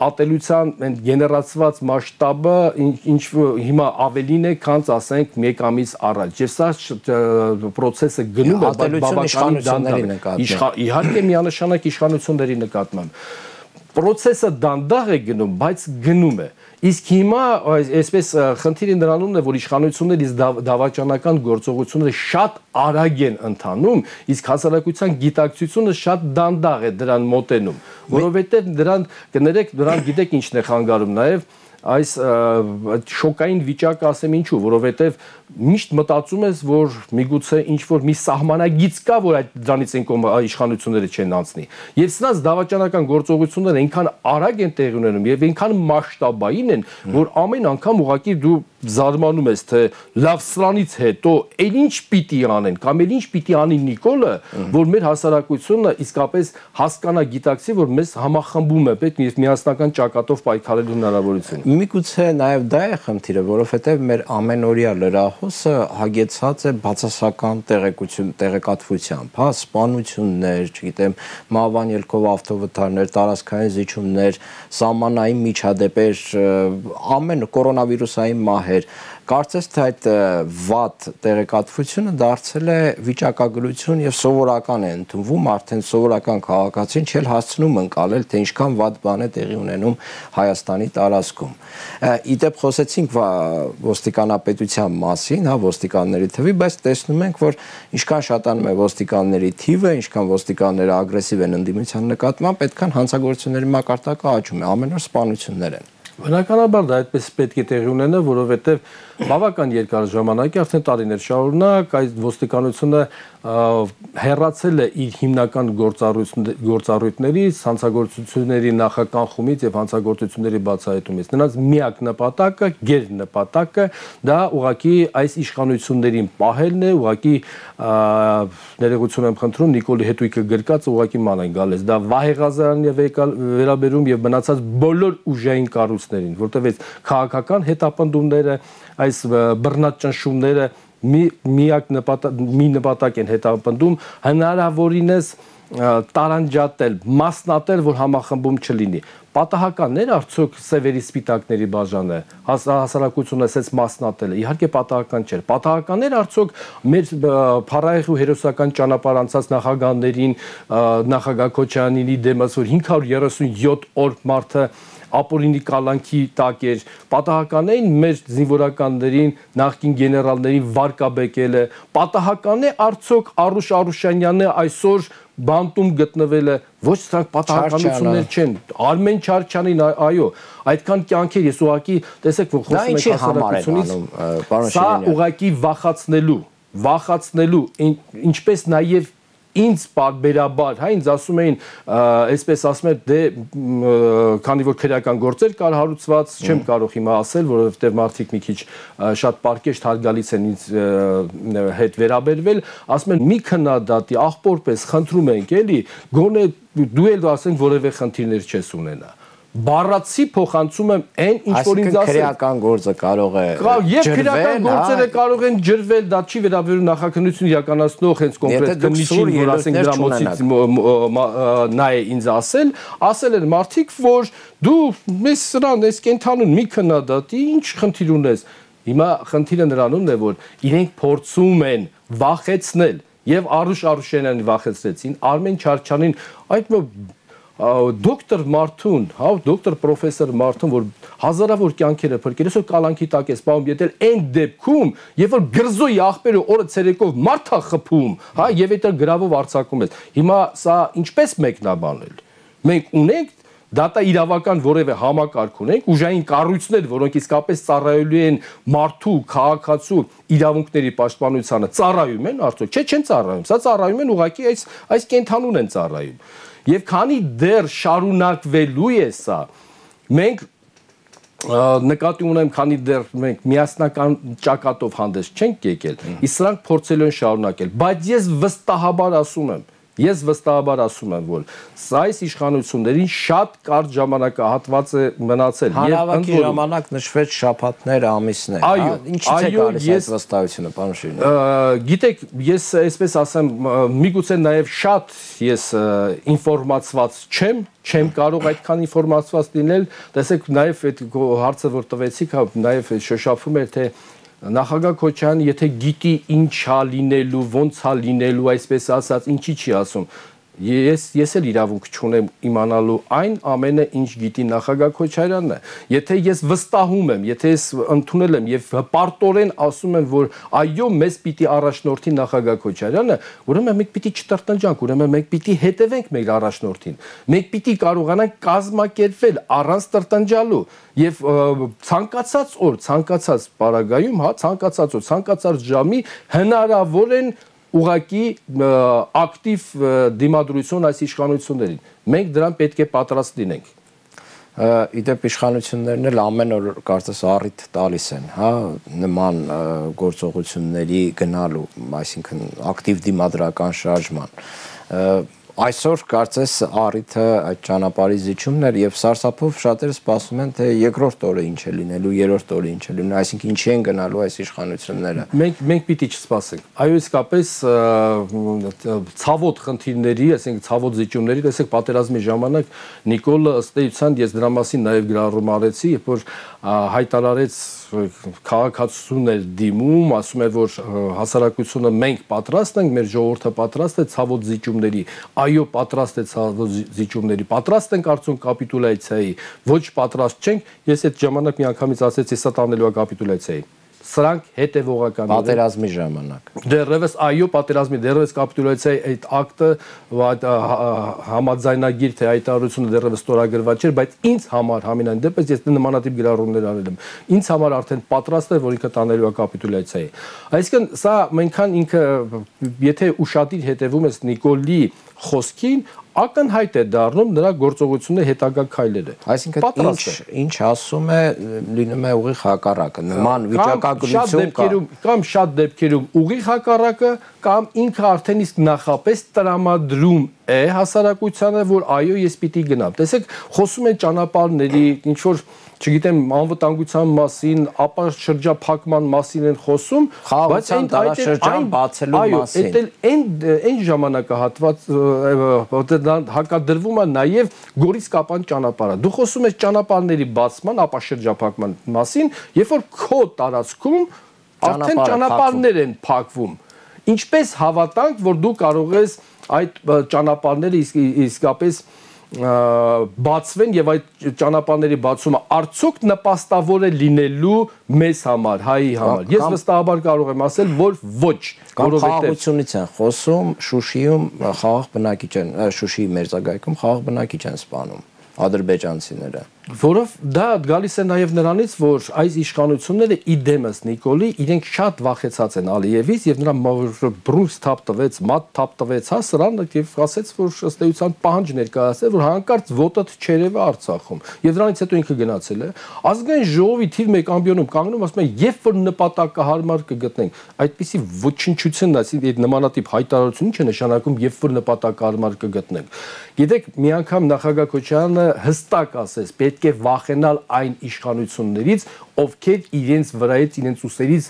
ատելության գեներացված մասշտաբը, ինչ հիմա ավելին է, քան ասենք մեկ ամիս առաջ։ Եվ սա process-ը գնում է բավականին դանդաղ։ Իհարկե միանշանակ իշխանությունների նկատմամբ։ Process-ը դանդաղ է գնում, բայց գնում է։ Իսկ հիմա այսպես խնդիրը նրանումն է, որ իշխանությունների դավաճանական գործողությունները շատ արագ են ընթանում, իսկ հասարակության գիտակցությունը շատ դանդաղ է դրան մոտենում, որովհետև դրան կներեք, դրան գիտեք ինչն է խանգարում նաև այս շոկային վիճակը ասեմ ինչու, որովհետև միշտ մտածում ես, որ միգուցե ինչ-որ մի սահմանագիծ կա, որ այդ դրանից են իշխանությունները չեն անցնի։ Եվ սրանց դավաճանական գործողությունները այնքան արագ են տեղի ունենում եւ այնքան մասշտաբային են, որ ամեն անգամ ուղղակի դու զարմանում ես, թե լավ սրանից հետո էլ ինչ պիտի անեն, կամ էլ ինչ պիտի անի Նիկոլը, որ մեր հասարակությունը իսկապես հասկանա, գիտակցի, որ մեզ համախմբում է պետք եւ միասնական ճակատով պայքարելու հնարավորություն։ Միգուցե նաև դա է խնդիրը, որովհետև մեր ամենօրյա լրահոսը հագեցած է բացասական տեղեկություն, տեղեկատվությամբ, հա, սպանություններ, չգիտեմ, մահվան ելքով ավտովթարներ, տարածքային զիջումներ, սահմանային միջադեպեր, ամեն կորոնավիրուսային մահեր, Կարծես թե այդ վատ տեղեկատվությունը դարձել է վիճակագրություն եւ սովորական է ընդունվում, արդեն սովորական քաղաքացին չէ հասցնում ընկալել, թե ինչքան վատ բան է տեղի ունենում Հայաստանի տարածքում։ Իդեպ խոսեցինք ոստիկանապետության մասին, հա, ոստիկանների թվի, բայց տեսնում ենք, որ ինչքան շատանում է ոստիկանների թիվը, ինչքան ոստիկանները ագրեսիվ են ընդդիմության նկատմամբ, այդքան հանցագործությունների մակարդակը աճում է, ամեն օր սպանություններ են։ Բնականաբար դա այդպես պետք է տեղի ունենա, որովհետև բավական երկար ժամանակ է, արդեն տարիներ շարունակ այդ ոստիկանությունը հեռացել է իր հիմնական գործառույթներից, հանցագործությունների նախականխումից եւ հանցագործությունների բացահայտումից։ Նրանց միակ նպատակը, գեր նպատակը դա ուղղակի այս իշխանություններին պահելն է, ուղղակի ներողություն եմ խնդրում, Նիկոլի հետույքը գրկած ուղղակի ման են գալիս։ Դա Վահե Ղազարյանն է վերաբերում եւ մնացած բոլոր ուժային կառույցներին, որտեղ այս քաղաքական հետապնդումները, այս բռնած ճնշումները մի միակ նպատակ մի նպատակ են հետապնդում հնարավորինս տարանջատել, մասնատել, որ համախմբում չլինի։ Պատահականներ արդյոք սևերի սպիտակների բաժանը հասարակությունը ասեց մասնատել է, իհարկե պատահական չէր։ Պատահականներ արդյոք մեր փառահեղ ու հերոսական ճանապարհ անցած նախագահներին, նախագահ Քոչարյանինի դեմս, որ հինգ հարյուր երեսունյոթ օր մարդը ապօրինի կալանքի տակ էր, պատահական էին մեր զինվորականներին, նախկին գեներալներին վարկաբեկելը, պատահական է արդյոք Արուշ Արուշանյանը այսօր բանտում գտնվելը, ոչ սրանք պատահականություններ չեն, Արմեն Չարչյանին, այո, այդքան կյանքեր, ես ուղղակի տեսեք, որ խոսում ենք հասարակությունից, սա ուղղակի վախացնելու, վախացնելու, ինչպես նաև ինձ բարբերաբար, հա, ինձ ասում էին, այսպես ասում են, դե քանի որ քրեական գործեր կար հարուցված, չեմ կարող հիմա ասել, որովհետև մարդիկ մի քիչ շատ պարկեշտ հարգալից են ինձ հետ վերաբերվել, ասում են մի քննադատի աղբորպես խնդրում ենք, էլի, գոնե դու էլ ասենք որևէ խնդիրներ չես ունենա։ Բառացի փոխանցում եմ այն ինչ որ ինձ ասել։ Քրեական գործը կարող է եւ քրեական գործերը կարող են ջրվել, դա չի վերաբերում նախաքննություն իրականացնող հենց կոնկրետ քննիչին, որ ասենք դրամոցից նա է ինձ ասել, ասել են մարդիկ, որ դու մեզ սրան ես կենթանուն մի քննադատի, ինչ խնդիր ունես։ Հիմա խնդիրը նրանումն է, որ իրենք փորձում են վախեցնել եւ Արուշ Արուշյանին վախեցրեցին, Արմեն Չարչյանին, այդ դոկտոր Մարթուն, հա, դոկտոր պրոֆեսոր Մարթուն, որ հազարավոր կյանքերը փրկել, այսօր կալանքի տակ է սպանում, եթե այն դեպքում, երբ որ գրզոյի աղբերը օրը ցերեկով մարդ է խփում, հա, եւ այդ գրավով արձակում ես։ Հիմա սա ինչպես մեկնաբանել։ Մենք ունենք դատա իրավական որևէ համակարգ ունենք, ուժային կառույցներ, որոնք իսկապես ծառայելու են մարդու, քաղաքացու իրավունքների պաշտպանությանը, ծառայում են արդյոք, չէ, չեն ծառայում, սա ծառայում են ուղղակի այս այս կենթանուն են ծառայում։ Եվ քանի դեռ շարունակվելու է սա, մենք նկատի ունեմ, քանի դեռ մենք միասնական ճակատով հանդես չենք եկել, իսկ սրանք փորձելու են շարունակել, բայց ես վստահաբար ասում եմ, Ես վստահաբար ասում եմ, որ սա այս իշխանություններին շատ կարճ ժամանակահատված է մնացել։ Հանրավակի ժամանակ նշվեց շաբաթներ, ամիսներ։ Այո, ինչից է գալիս այդ վստահությունը, պարոն Շիրինյան։ Գիտեք, ես այսպես ասեմ, միգուցե նաև շատ ես ինֆորմացված չեմ, չեմ կարող այդքան ինֆորմացված լինել։ Տեսեք, նաև այդ հարցը, որ տվեցիք, նաև շոշափում էր, թե Նախագահ Քոչարյանը եթե գիտի ինչա լինելու, ոնց է լինելու, այսպես ասած, ինչի չի ասում։ Ես ես էլ իրավունք չունեմ իմանալու այն ամենը, ինչ գիտի նախագահ Քոչարյանն է։ Եթե ես վստահում եմ, եթե ես ընդունել եմ եւ հպարտորեն ասում եմ, որ այո, մեզ պիտի առաջնորդի նախագահ Քոչարյանը, ուրեմն մենք պիտի չտրտնջանք, ուրեմն մենք պիտի հետևենք մեր առաջնորդին։ Մենք պիտի կարողանանք կազմակերպվել առանց տրտնջալու եւ ցանկացած օր, ցանկացած պարագայում, հա, ցանկացած օր, ցանկացած ժամի հնարավոր են ուղղակի ակտիվ դիմադրություն այս իշխանություններին։ Մենք դրան պետք է պատրաստ լինենք։ Իդեպ իշխանություններն էլ ամեն օր կարծես առիթ տալիս են, հա, նման գործողությունների գնալու, այսինքն ակտիվ դիմադրական շարժման։ Այսօր կարծես առիթը այդ ճանապարհի զիջումն էր եւ սարսափով շատերը սպասում են թե երկրորդ օրը ինչ է լինելու, երրորդ օրը ինչ է լինելու, այսինքն ինչի են գնալու այս իշխանությունները։ Մենք մենք պիտի չսպասենք։ Այո, իսկապես ցավոտ խնդիրների, այսինքն ցավոտ զիջումների, տեսեք պատերազմի ժամանակ Նիկոլը ըստ էության ես դրա մասին նաեւ գրառում արեցի, երբ որ հայտարարեց քաղաքացիություն էր դիմում, ասում էր որ հասարակությունը մենք պատրաստ ենք, մեր ժողովուրդը պատրաստ է ցավոտ զիջումների։ Այո, պատրաստ է ցավոտ զիջումների, պատրաստ ենք արդյոք կապիտուլյացիայի, ոչ պատրաստ չենք։ Ես այդ ժամանակ մի անգամից ասեցի սա տանելու է կապիտուլյացիայի։ Սրանք հետևողական են պատերազմի ժամանակ։ Դեռևս այո, պատերազմի դեռևս կապիտուլյացիայի այդ ակտը համաձայնագիր թե հայտարարությունը դեռևս ստորագրված չէր, բայց ինձ համար համենայն դեպս ես նմանատիպ գրառումներ արել եմ։ Ինձ համար արդեն պատրաստ էր, որ ինքը տանելու է կապիտուլյացիայի։ Այսինքն սա մենքան ինքը եթե ուշադիր հետևում ես Նիկոլի խոսքին, ակնհայտ է դառնում նրա գործողությունների հետագա քայլերը։ Այսինքն ինչ ինչ ասում է, լինում է ուղիղ հակառակը, նման վիճակագրություն կա։ Կամ շատ դեպքերում ուղիղ հակառակը, կամ ինքը արդեն իսկ նախապես տրամադրում է հասարակությանը, որ այո, ես պիտի գնամ։ Տեսեք, խոսում են ճանապարհների, ինչ որ չգիտեմ, անվտանգության մասին, ապա շրջափակման մասին են խոսում, բայց այն տարաշրջան բացելու մասին։ Այո, այն այն ժամանակահատված հակադրվում է նաև Գորիս Կապան ճանապարհը։ Դու խոսում ես ճանապարհների բացման, ապա շրջափակման մասին, երբ որ քո տարածքում արդեն ճանապարհներ են փակվում։ Ինչպես հավատանք, որ դու կարող ես այդ ճանապարհները իսկապես բացվեն եւ այդ ճանապարհների բացումը արդյոք նպաստավոր է լինելու մեզ համար, հայի համար։ Ես վստահաբար կարող եմ ասել, որ ոչ, որովհետեւ խաղաղությունից են խոսում, Շուշիում խաղաղ բնակիչ են, Շուշիի մերձակայքում խաղաղ բնակիչ են սպանում ադրբեջանցիները։ Որով դա գալիս է նաև նրանից, որ այս իշխանությունները իդեմս Նիկոլի իրենք շատ վախեցած են Ալիևից եւ նրա բրունս թափ տվեց, մատ թափ տվեց, հա սրան եւ ասեց, որ ըստ էության պահանջ ներկայացրել, որ հանկարծ ոտդ չերևը Արցախում։ Եվ դրանից հետո ինքը գնացել է։ Ազգային ժողովի թիվ մեկ ամբիոնում կանգնում ասում են, երբ որ նպատակահարմար կգտնենք, այդպիսի ոչնչությունն, այսինքն այդ նմանատիպ հայտարարություն ինչ է նշանակում, երբ որ նպատակահարմար կգտնենք։ Գիտեք, մի անգամ նախագահ Քոչարյանը հստակ ասեց, պետք է վախենալ այն իշխանություններից, ովքեր իրենց վրայից, իրենց ուսերից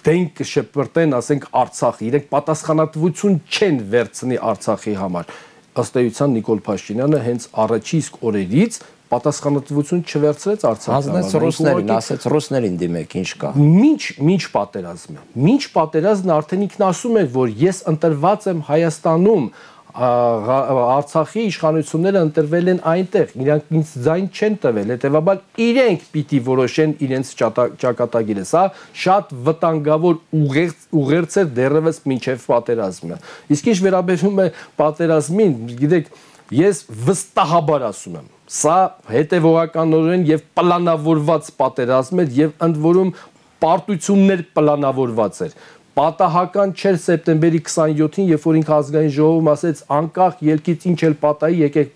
դեն կշպրտեն, ասենք Արցախի, իրենք պատասխանատվություն չեն վերցնի Արցախի համար։ Ըստ էության Նիկոլ Փաշինյանը հենց առաջի իսկ օրերից պատասխանատվություն չվերցրեց Արցախի համար։ Ասեց ռուսներին, ասեց ռուսներին դիմեք, ինչ կա։ Մինչ մինչ պատերազմը, մինչ պատերազմն արդեն ինքն ասում է, որ ես ընտրված եմ Հայաստանում, Արցախի իշխանությունները ընտրվել են այնտեղ, իրանք ինձ ձայն չեն տվել, հետևաբար իրենք պիտի որոշեն իրենց ճակատագիրը։ Սա շատ վտանգավոր ուղերձ է դեռևս մինչև պատերազմը։ Իսկ ինչ վերաբերում է պատերազմին, գիտեք, ես վստահաբար ասում եմ, սա հետևողականորեն եւ պլանավորված պատերազմ էր եւ ընդ որում պարտություններ պլանավորված էր։ Պատահական չէր սեպտեմբերի քսաներկուսին, երբ որ ինքը ազգային ժողովում ասեց անկախ ելքից ինչ էլ պատահի, եկեք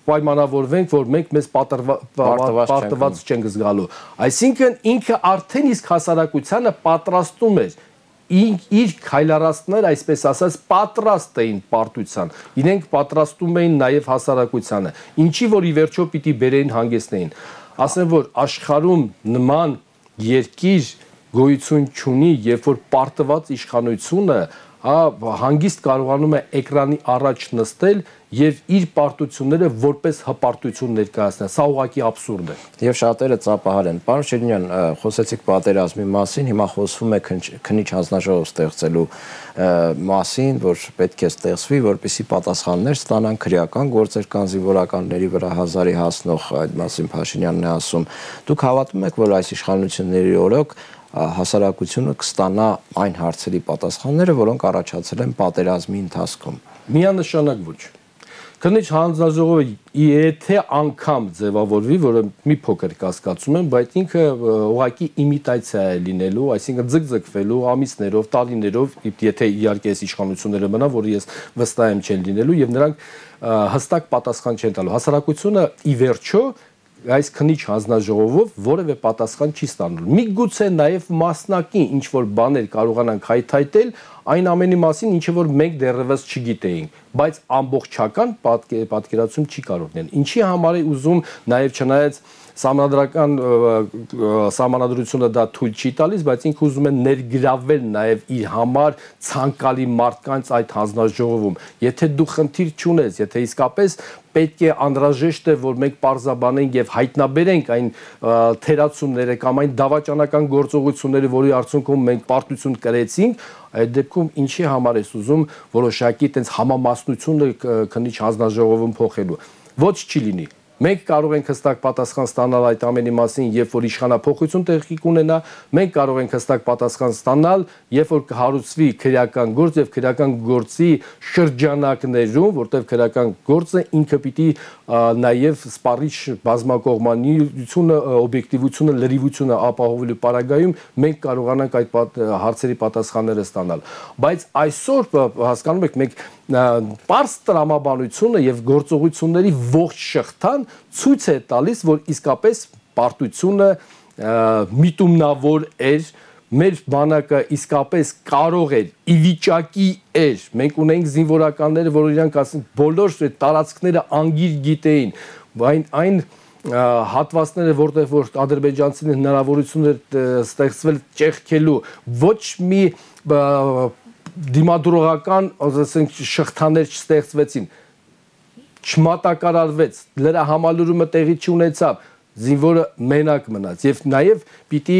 պայմանավորվենք, որ մենք մեզ պարտված չենք զգալու։ Այսինքն ինքը արդեն իսկ հասարակությանը պատրաստում էր իր քայլարածներ, այսպես ասած, պատրաստ էին պարտության։ Իրենք պատրաստում էին նաև հասարակությանը, ինչի որ ի վերջո պիտի բերեին հանգեցնեին։ Ասեմ, որ աշխարհում նման երկիր գոյություն չունի, երբ որ պարտված իշխանությունը հանգիստ կարողանում է էկրանի առաջ նստել եւ իր պարտությունները որպես հպարտություն ներկայացնել։ Սա ուղղակի աբսուրդ է։ Եվ շատերը ծափահար են։ Պարոն Շիրինյան, խոսեցիք պատերազմի մասին, հիմա խոսվում է քննիչ հանձնաժողով ստեղծելու մասին, որ պետք է ստեղծվի, որպեսզի պատասխաններ ստանան քրեական գործեր կան զինվորականների վրա հազարի հասնող, այդ մասին Փաշինյանն է ասում։ Դուք հավատում եք, որ այս իշխանությունների օրոք հասարակությունը կստանա այն հարցերի պատասխանները, որոնք առաջացել են պատերազմի ընթացքում։ Միանշանակ ոչ։ Քննիչ հանձնաժողովը եթե անգամ ձևավորվի, որը մի փոքր կասկածում եմ, բայց ինքը ուղղակի իմիտացիա է լինելու, այսինքն ձգձգվելու ամիսներով, տարիներով, եթե իհարկե այս իշխանությունները մնա, որը ես վստահ եմ չեն լինելու եւ նրանք հստակ պատասխան չեն տալու։ Հասարակությունը ի վերջո այս քննիչ հանձնաժողովով որևէ պատասխան չի ստանալու։ Միգուցե նաև մասնակի ինչ որ բաներ կարողանան հայթայթել, այն ամենի մասին, ինչը որ մենք դեռևս չգիտեինք, բայց ամբողջական պատկերացում չի կարող լինել։ Ինչի համար է ուզում նաև չնայած Սահմանադրական սահմանադրությունը դա թույլ չի տալիս, բայց ինքը ուզում է ներգրավել նաև իր համար ցանկալի մարդկանց այդ հանձնաժողովում։ Եթե դու խնդիր չունես, եթե իսկապես պետք է անհրաժեշտ է, որ մենք պարզաբանենք եւ հայտնաբերենք այն թերացումները կամ այն դավաճանական գործողությունները, որի արդյունքում մենք պարտություն կրեցինք, այդ դեպքում ինչի համար է ուզում որոշակի տենց համամասնությունը քննիչ հանձնաժողովում փոխելու։ Ոչ չի լինի։ Մենք կարող ենք հստակ պատասխան ստանալ այդ ամենի մասին, երբ որ իշխանափոխություն տեղի կունենա, մենք կարող ենք հստակ պատասխան ստանալ, երբ որ կհարուցվի քրեական գործ եւ քրեական գործի շրջանակներում, որտեղ քրեական գործը ինքը պիտի նաեւ սպառիչ բազմակողմանիությունը, օբյեկտիվությունը, լրիվությունը ապահովելու պարագայում մենք կարողանանք այդ հարցերի պատասխանները ստանալ։ Բայց այսօր հասկանում եք, մենք պարզ տրամաբանությունը եւ գործողությունների ողջ շղթան ցույց է տալիս, որ իսկապես պարտությունը միտումնավոր էր, մեր բանակը իսկապես կարող էր, ի վիճակի էր, մենք ունենք զինվորականները, որ իրանք ասեն բոլոր տարածքները անգիր գիտեին, այն այն հատվածները, որտեղ որ ադրբեջանցիների հնարավորություններ ստեղծվել ճեղքելու, ոչ մի դիմադրողական, ասենք, շղթաներ չստեղծվեցին, չմատակարարվեց, լրահամալուրումը տեղի չունեցավ, զինվորը մենակ մնաց եւ նաեւ պիտի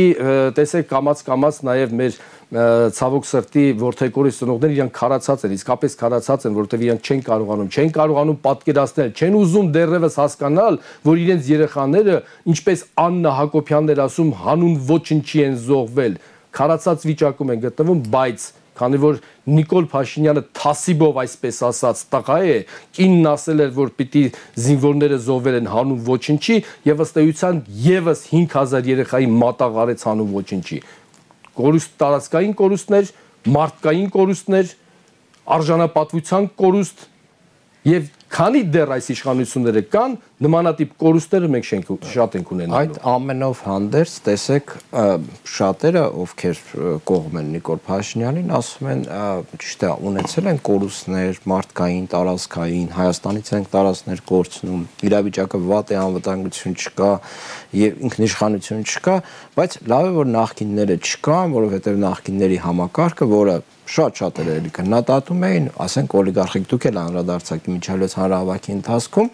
տեսեք կամած-կամած նաեւ մեր ցավոք սրտի ворթեգորի ծնողները իրանք քարացած են, իսկապես քարացած են, որովհետեւ իրանք չեն կարողանում, չեն կարողանում պատկերացնել, չեն ուզում դեռևս հասկանալ, որ իրենց երեխաները, ինչպես Աննա Հակոբյանն էր ասում, հանուն ոչնչի են զոհվել, քարացած վիճակում են գտնվում, բայց քանի որ Նիկոլ Փաշինյանը թասիբով այսպես ասած տղա է, կինն ասել էր, որ պիտի զինվորները զոհվել են հանուն ոչնչի եւ ըստ էության եւս հինգ հազար երեխայի մատաղ արեց հանուն ոչնչի։ Կորուստ տարածքային կորուստներ, մարդկային կորուստներ, արժանապատվության կորուստ եւ քանի դեռ այս իշխանությունները կան, նմանատիպ կորուստները մենք շենք շատ ենք ունենալու։ Այդ ամենով հանդերձ տեսեք շատերը, ովքեր կողմ են Նիկոլ Փաշինյանին, ասում են, ճիշտ է, ունեցել են կորուստներ, մարդկային, տարածքային, Հայաստանից են տարածքներ կորցնում, իրավիճակը վատ է, անվտանգություն չկա եւ ինքնիշխանություն չկա, բայց լավ է որ նախկինները չկան, որովհետեւ նախկինների համակարգը, որը շատ շատերը էլի քննադատում էին, ասենք օլիգարխիկ դուք էլ անդրադարձաք միջազգային հանրահավաքի ընթացքում,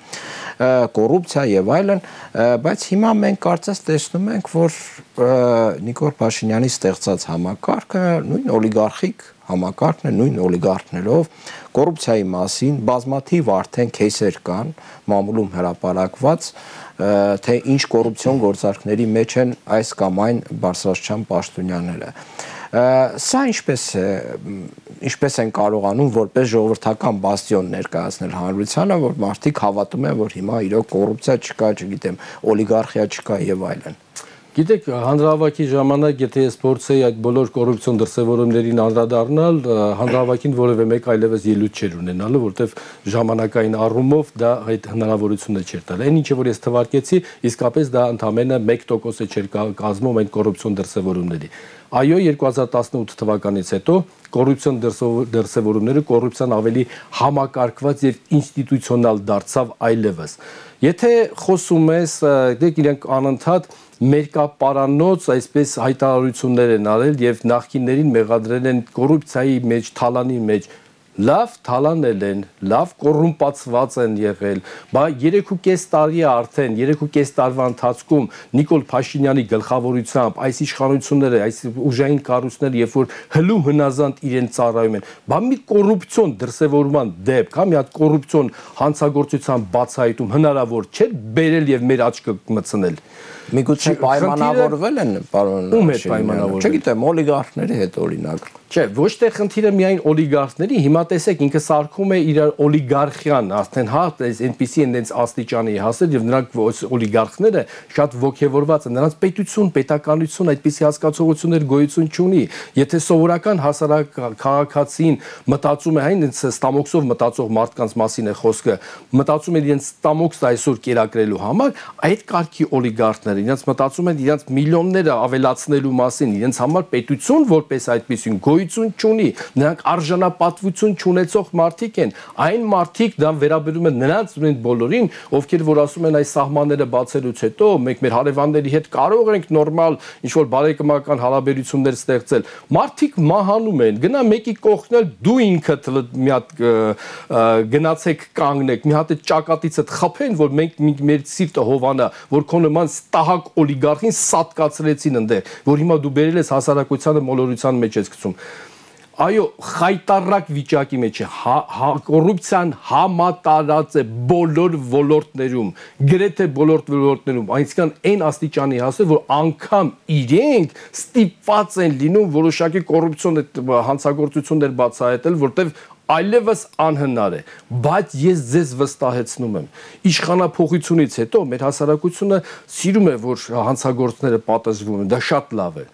կոռուպցիա եւ այլն, բայց հիմա մենք կարծես տեսնում ենք, որ Նիկոլ Փաշինյանի ստեղծած համակարգը նույն օլիգարխիկ համակարգն է, նույն օլիգարխներով կոռուպցիայի մասին բազմաթիվ արդեն քեյսեր կան, մամուլում հրապարակված, թե ինչ կոռուպցիոն գործարքների մեջ են այս կամ այն բարձրաստիճան պաշտոնյաները։ Սա ինչպես է, ինչպես են կարողանում որպես ժողովրդական բաստիոն ներկայացնել հանրությանը, որ մարդիկ հավատում են, որ հիմա իրոք կոռուպցիա չկա, չգիտեմ, օլիգարխիա չկա եւ այլն։ Գիտեք, հանրահավաքի ժամանակ, եթե ես փորձեի այդ բոլոր կոռուպցիոն դրսևորումներին անդրադառնալ, հանրահավաքին որևէ մեկ այլևս ելույթ չէր ունենալու, որտեղ ժամանակային առումով դա այդ հնարավորությունը չէր տալ։ Այն ինչը որ ես թվարկեցի, իսկապես դա ընդամենը մեկ տոկոս չէր կազմում այդ կոռուպցիոն դրսևորումների։ Այո, երկու հազար տասնութ թվականից հետո կոռուպցիոն դրսևորումները կոռուպցիան ավելի համակարգված եւ ինստիտուցիոնալ դարձավ այլևս։ Եթե խոսում ես, դեք իրենք անընդհատ մերկապարանոց այսպես հայտարարություններ են արել եւ նախկիններին մեղադրել են կոռուպցիայի մեջ, թալանի մեջ, լավ թալանել են, լավ կոռումպացված են եղել, բայց երեք ու կես տարի է արդեն, երեք ու կես տարվա ընթացքում Նիկոլ Փաշինյանի գլխավորությամբ այս իշխանությունները, այս ուժային կառույցները, երբ որ հլում հնազանդ իրեն ծառայում են, բա մի կոռուպցիոն դրսևորման դեպք, հա, մի հատ կոռուպցիոն հանցագործության բացահայտում հնարավոր չէ բերել եւ մեր աչքը մտցնել։ Միգուցե պայմանավորվել են, պարոն։ Ում հետ պայմանավորվել։ Չգիտեմ, օլիգարխների հետ օրինակ։ Չէ, ոչ թե խնդիրը միայն օլիգարխների, հիմա տեսեք ինքը սարքում է իր օլիգարխիան, արդեն հա, այնպեսի են դենց աստիճանի հասել եւ նրանք օլիգարխները շատ ողջևորված են, նրանց պետություն, պետականություն այդպիսի հասկացողություններ գոյություն չունի։ Եթե սովորական հասարակ քաղաքացին մտածում է, այն ստամոքսով մտածող մարդկանց մասին է խոսքը, մտածում են իրենց ստամոքսը այսօր կերակրելու համար, այդ կարգի օլիգարխները իրենց մտածում են իրենց միլիոնները ավելացնելու մասին, իրենց համար պետություն որպես այդպեսին գոյություն չունի, նրանք արժանապատվություն չունեցող մարդիկ են, այն մարդիկ դա վերաբերում են նրանց բոլորին, ովքեր որ ասում են այս սահմանները բացելուց հետո մենք մեր հարևանների հետ կարող ենք նորմալ ինչ-որ բարեկամական հարաբերություններ ստեղծել, մարդիկ մահանում են, գնա մեկի կողքնել դու ինքդ մի հատ գնացեք կանգնեք, մի հատ ճակատիցդ խփեն, որ մենք մեր սիրտը հովանա, որ քո նման ստահակ օլիգարխին սատկացրեցին այնտեղ, որ հիմա դու բերել ես հասարակությանը մոլորության մեջ ես գցում։ Այո, խայտարակ վիճակի մեջ է, կոռուպցիան համատարած է բոլոր ոլորտներում, գրեթե բոլոր ոլորտներում, այնքան այն աստիճանի հասել, որ անգամ իրենք ստիպված են լինում որոշակի կոռուպցիոն հանցագործություններ բացահայտել, որտեղ այլևս անհնար է, բայց ես ձեզ վստահեցնում եմ, իշխանափոխությունից հետո մեր հասարակությունը սիրում է, որ հանցագործները պատժվում են, դա շատ լավ է։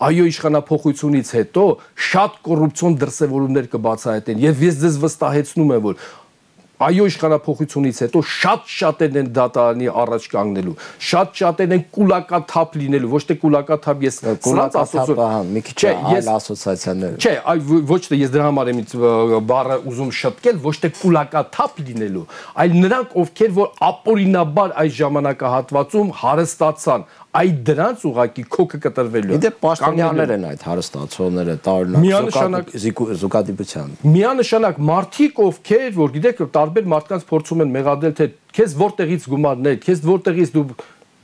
Այո, իշխանափոխությունից հետո շատ կոռուպցիոն դրսևորումներ կբացահայտեն, եւ ես ձեզ վստահեցնում եմ, որ այո իշխանափոխությունից հետո շատ-շատերն են դատարանի առաջ կանգնելու, շատ-շատերն են կուլակաթափ լինելու, ոչ թե կուլակաթափ ես կուլակաթափը մի քիչ այլ ասոցիացիաներ։ Չէ, ոչ թե ես դրա համար եմ բառը ուզում շտկել, ոչ թե կուլակաթափ լինելու, այլ նրանք ովքեր որ ապօրինաբար այս ժամանակահատվածում հարստացան, այդ դրանց ուղակի քոքը կտրվելու է։ Իդե պաշտոնյաներ են այդ հարստացողները տարօրինակ զուգադիպությամբ։ Միանշանակ մարդիկ ովքեր որ գիտեք տարբեր մարդկանց փորձում են մեղադրել թե քեզ որտեղից գումարներ, քեզ որտեղից դու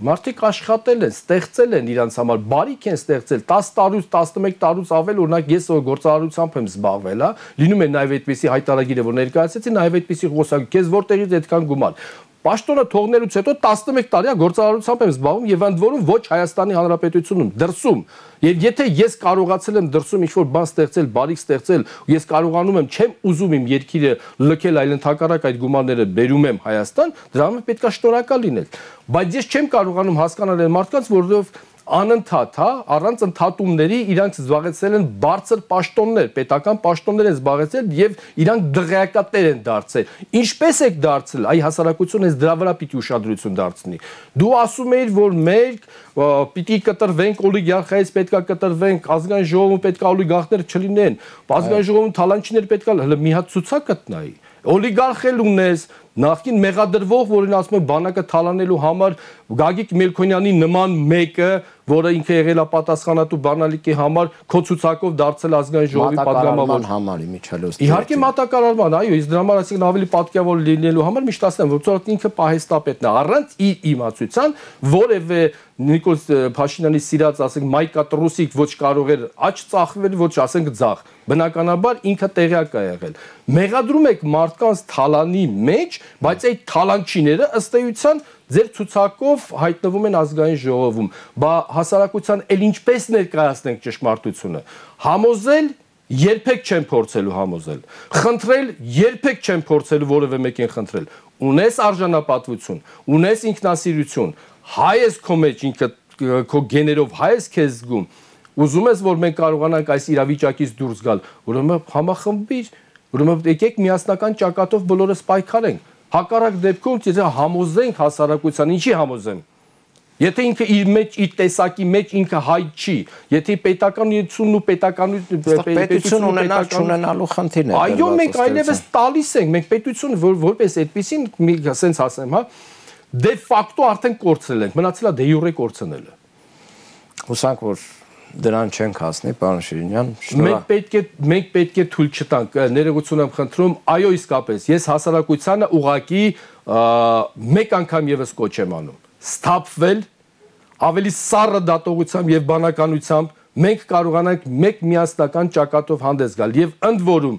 մարդիկ աշխատել են, ստեղծել են իրանց համար, բարիք են ստեղծել, տասը տարուց, տասնմեկ տարուց ավել, օրինակ ես գործարարությամբ եմ զբաղվել, հա, լինում է նաև այդպիսի հայտարարագիրը, որ ներկայացեցի, նաև այդպիսի խոսակ, քեզ որտեղից այդքան գումար։ Պաշտոնը թողնելուց հետո տասնմեկ տարի գործարարությամբ եմ զբաղվում եւ ընդ որում ոչ Հայաստանի Հանրապետությունում, դրսում։ Եվ եթե ես կարողացել եմ դրսում ինչ-որ բան ստեղծել, բարիք ստեղծել, ես կարողանում եմ, չեմ ուզում իմ երկիրը լքել, այլ ընդհակառակ այդ գումարները բերում եմ Հայաստան, դրա համար պետք է շնորհակալ լինել։ Բայց ես չեմ կարողանում հասկանալ այն մարդկանց, որովհետեւ անընդհատ, հա, առանց ընդհատումների իրանք զբաղեցել են բարձր պաշտոններ, պետական պաշտոններ են զբաղեցել եւ իրանք դղյակատեր են դարձել։ Ինչպես եք դարձել, այ հասարակությունը այս դրա վրա պիտի ուշադրություն դարձնի։ Դու ասում էիր, որ մենք պիտի կտրվենք օլիգարխիայից, պետքա կտրվենք, ազգային ժողովում պետքա օլիգարխներ չլինեն, ազգային ժողովում թալանչիներ պետքա, հələ մի հատ ցուցակ գտնայի։ Օլիգարխել ունես, նախքին մեղադրվող, որին ասում են բանակը թալանելու համար Գագիկ Մելքոնյանի նման մեկը, որը ինքը եղել է պատասխանատու բանալիքի համար, քո ցուցակով դարձել ազգային ժողովի պատգամավոր համարի միջալոց։ Իհարկե մատակարարման, այո, իսկ դրա համար ասենք ավելի պատկերավոր լինելու համար միշտ ասեմ, որ ինքը պահեստապետն է, առանց իր իմացության որևէ Նիկոլ Փաշինյանի սիրած ասենք Մայկա Տրուսիկ ոչ կարող էր աճ ծախվել, ոչ ասենք ձախ։ Բնականաբար ինքը տեղյակ է եղել։ Մեղադրում եք մարդկանց թալանի մեջ, բայց այդ թալանչիները ըստ էության ձեր ցուցակով հայտնվում են ազգային ժողովում։ Բա հասարակության էլ ինչպես ներկայացնենք ճշմարտությունը։ Համոզել երբեք չեմ փորձելու համոզել։ Խնդրել երբեք չեմ փորձելու որևէ մեկին խնդրել։ Ունես արժանապատվություն, ունես ինքնասիրություն, հայ ես քո մեջ ինքը քո գեներով հայ ես քեզ զգում։ Ուզում ես որ մենք կարողանանք այս իրավիճակից դուրս գալ, ուրեմն համախմբիր, ուրեմն եկեք միասնական ճակատով բոլորս պայքարենք։ Հակառակ դեպքում եթե համոզենք հասարակության, ինչի համոզեմ։ Եթե ինքը իր մեջ իր տեսակի մեջ ինքը հայ չի, եթե պետականությունն ու պետականություն ունենալ չունենալու խնդիրն է։ Այո, մենք այլևս տալիս ենք, մենք պետություն որպես այդպեսին, ասենց ասեմ, հա, դե ֆակտո արդեն կորցրել ենք, մնացել է դե յուրե կորցնելը։ Հուսանք որ դրան չենք հասնի, պարոն Շիրինյան։ Մենք պետք է մենք պետք է թույլ չտանք, ներողություն եմ խնդրում, այո իսկապես, ես հասարակությանը ուղակի մեկ անգամ եւս կոչ եմ անում։ Սթափվել ավելի սառը դատողությամբ եւ բանականությամբ մենք կարողանանք մեկ միասնական ճակատով հանդես գալ եւ ընդ որում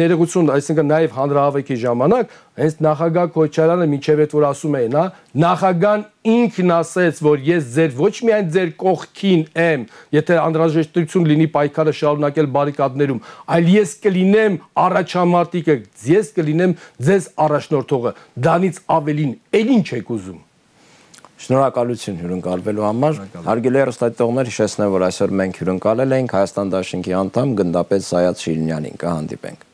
ներողություն, այսինքն նաեւ հանրահավաքի ժամանակ հենց նախագահ Քոչարյանը մինչեւ այդ որ ասում էին, հա, նախագահան ինքն ասեց, որ ես ձեր ոչ միայն ձեր կողքին եմ, եթե անհրաժեշտություն լինի պայքարը շարունակել բարիկադներում, այլ ես կլինեմ առաջամարտիկը, ես կլինեմ ձեզ առաջնորդողը, դրանից ավելին էլ ինչ եք ուզում։ Շնորհակալություն հյուրընկալվելու համար։ Հարգելի հեռուստադիտողներ, հիշեցնեմ, որ այսօր մենք հյուրընկալել ենք Հայաստան դաշինքի անդամ գնդապետ Սայաթ Շիրինյանին, կհանդիպենք։